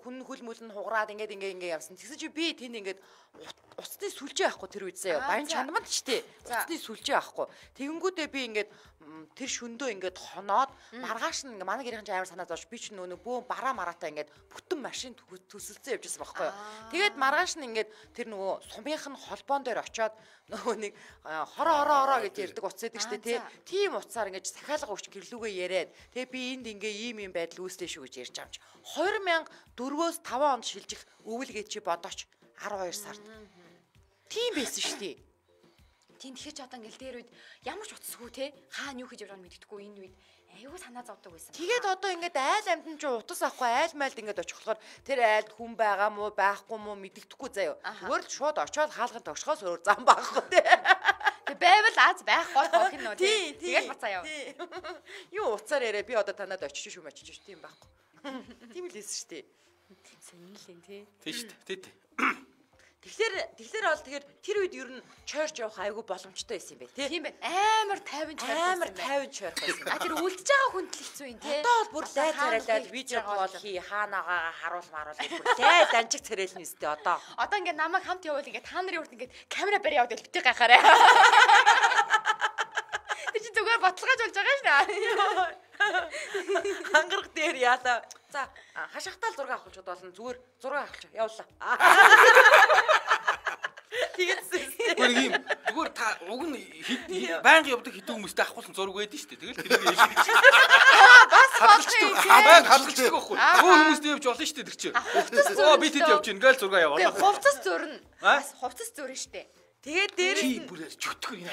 хүн хөл мөл нь хугараад ингээд явсан. Тэгсэн чи би тэнд ингээд уцны сүлжээ авахгүй тэр үед заяа. Баян Чанбанд ч тий. Уцны сүлжээ авахгүй. Тэгэнгүүтээ би ингээд тэр шөндөө ингээд хоноод маргааш нь манай гэрийн амар санаа зовж би ч нөгөө бөө бараа мараатаа ингээд бүтэн машин төсөлцөө явжсэн байхгүй юу. Тэгээд маргааш нь ингээд тэр нөгөө сумынх нь холбоон дээр очиод нөгөө нэг хороо гэж ярьдаг утас байдаг штэ тий. Тийм утсаар ингээд сахиалга өгч гэрлүүгээ яриад тэгээ би энд ингээ ийм байдал үүслээ шүү гэж ярьж байгаа юм чи 2004-өөс 5 онд шилжих өвөлгээд чи бодооч 12 сард. Тийм байсан шүү дээ. Тийм тэгэхээр ч одоо ингээл дээр үед ямар ч утасгүй те хаана юу хийж явж байгааг мэддэхгүй энэ үед аюу санаа зовдөг байсан. Тэгээд одоо ингээд айл амьтан ч утас авахгүй айл майлд ингээд очих болохоор тэр айлд хүн байгаа мó байхгүй мó мэддэхгүй заяа. Зүгээр л шууд очиод хаалганд тогшхоос өөр зам байхгүй те. Тэг байвал аз байхгүй гох юм уу тий. Тэгээд бацаа яв. Юу уцаар яриа би одоо танад очиж шүү мачиж шүү тийм байхгүй. Тийм л хэлсэн шүү дээ. Сонирхолтой тий. Тий шүү дээ. Тий. Тэгэхээр бол тэр үед ер нь чойрч явах айгүй боломжтой байсан юм байна тий. Тийм байна. Амар 50 чойрх байсан. А тэр үлдэж байгаа хүнд л хэцүү юм тий. Одоо бол бүр лай царайлаад видео кол хий хаанаага харуулмаар бүр лай данчиг царайлна өстэй одоо. Одоо ингээд намайг хамт явуул ингээд та нарын урд ингээд камера барь яваад битгий гахаарай. Тэр чи зүгээр ботлогож болж байгаа шнэ. Хангарах дээр яалаа. За хашаахтаал зураг авахч болно. Зүгээр зураг авахч явуулаа. Тэгээс. Зүгээр юм. Зүгээр та уг нь байнга явдаг хэдэн хүмүүстэй авахулсан зураг байдаг шүү дээ. Тэгэл тэрийг хэлдэг чинь. Бас хадгалдаг байхгүй. Өөр хүмүүстэй явж болно шүү дээ тэр чинь. Би тэд явж гин гээл зураг явуулаа. Хувцас зурна. Бас хувцас зурна шүү дээ. Тэгээд дээр чи бүр чөтгөр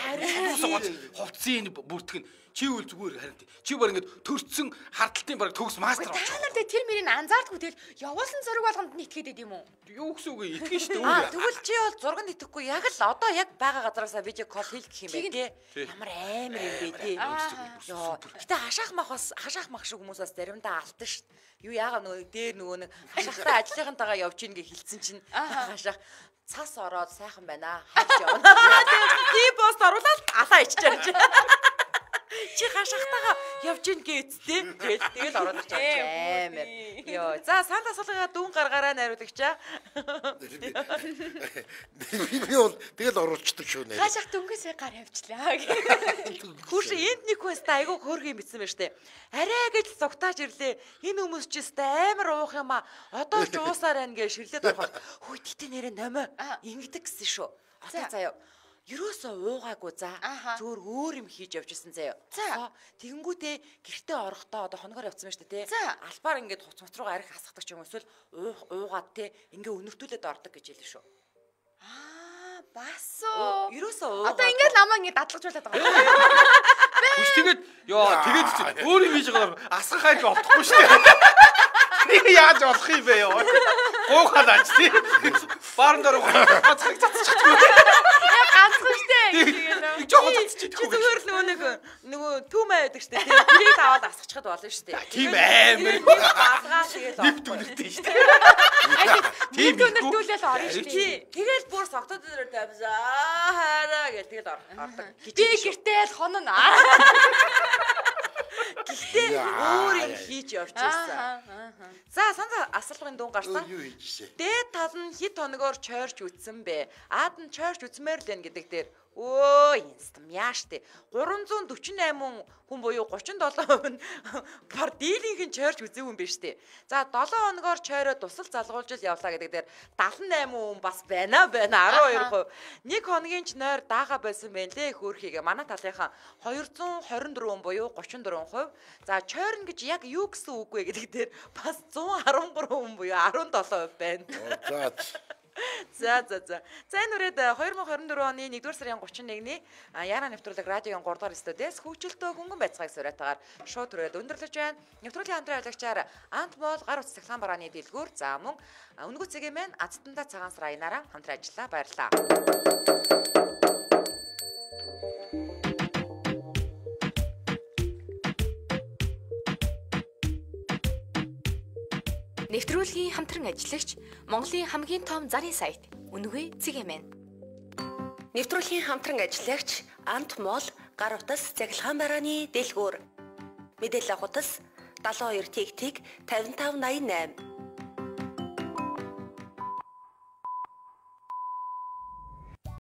хувцсын бүртгэн чи үл зүгээр харин чи баг ингээд төрцсөн хардталтын баг төгс мастер болчих. Та нар тэр мөрийг анзаардгүй тэгэл явуулсан зураг болгонд нь итгээд идэм үү? Юу гэсэн үг итгэн шүү дээ. Тэгвэл чи бол зурганд итгэхгүй яг л одоо яг байгаа газараасаа видео кол хийх гэх юм бэ тий. Ямар амар юм бэ тий. Йоо. Гэтэ хашаах мах шиг хүмүүс бас заримдаа алтан шүү. Юу яага нөгөө дээр нөгөө нэг хашаахтай ажлынхантайгаа явж ийн гэж хэлсэн чинь хашаах цас ороод сайхан байна. Хавч явна. Тэгээд пост оруулаад алаа иччихэж. Чи хашаахтайгаа явж ийн гээцтэй. Тэгэл ороод ирчих амар. Йоо. За санд асуулгаа дүүн гаргаараа найруулагчаа. Би бол тэгэл оруулцдаг шүү нэ. Хашаах дөнгөөсөө гар явчлаа. Хүүш энд нэг хүн ста айгу хөөргөн битсэн байна штэ. Арай гэж зугтааж ирлээ. Энэ хүмүүс ч ста амар уух юм а. Одоо ч уусаар байна гэж ширлээд ороход. Хүй тэтэ нэрэ номоо ингэдэг гэсэн шүү. Одоо заяа. Ерөөсөө уугаагүй за. Зөөр өөр юм хийж явж исэн заяа. Тэгэнгүүтээ гэртээ орохдоо одоо хоногоор явцсан байна штэ тий. Албаар ингээд хуц руугаа арих асгадаг ч юм эсвэл уугаад тий ингээ өнөртүүлээд ордог гэж хэлсэн шүү. Басоо. Ерөөсөө одоо ингээд намаа ингээд дадлагжуулаад байгаа. Хүч тэгээд тэгээд чи өөр юм хийж байгаа асгах хайр олдохгүй шүү дээ. Нэг яаж болох юм бэ ёо. Гоохаад ач тий. Баарн дээр гацчих чадчихгүй. Ганцхан штэ. Нэг жоохон цацчихгүй. Зүгээр л нөгөө түүмээ байдаг штэ тий. Тэрийг аваад асгачихад болно штэ. Тийм амар. Асгаа тэгээд нэг дүнэртэй штэ. Тийм дүнэртүүлэл орно штэ. Тэгэл бүр согтод дээр тавьсаа хараа гэх тэгэл ордог. Би гэртээ л хонно. Гэхдээ өөр юм хийж явж ирсэн. За санаа асуулгын дүүн гарсан. Дээд тал нь хэд хоногоор чойрч үтсэн бэ? Аад нь чойрч үтсмээр л байна гэдэг дээр инстам яаштай 348 хүн буюу 37% нь дийлийнх нь чойрч үзээгүй юм биш үү? За 7 хоногоор чойроо тусал залгуулж явлаа гэдэг дээр 78 хүн бас байна 12%. Нэг хоногийн ч нойр даага байсан байна лээ хөөрхийгээ манай талынхаа 224 буюу 34%. За чойрн гэж яг юу гэсэн үг вэ гэдэг дээр бас 113 хүн буюу 17% байна. За энэ үрээд 2024 оны 1-р сарын 31-ний Яна нэвтрүүлэг радиогийн 3 дугаар студиэс хөгжилтөө хөнгөн байцгааг сураатаагаар шууд түрээд өндөрлөж байна. Нэвтрүүлгийн хамтран ажиллагчаар Ант Моол гар утас цахилгаан барааны дэлгүүр за мөн Үнэгүй цэгийн мэн Азтанда цагаан сар аянаараа хамтран ажиллаа. Баярлалаа. Нэвтрүүлгийн хамтран ажиллагч Монголын хамгийн том зарын сайт Үнэгүй цэгийн мэн. Нэвтрүүлгийн хамтран ажиллагч Ант Моол гар утас цахилгаан барааны дэлгүүр. Мэдээлэл авах утас 72 55 88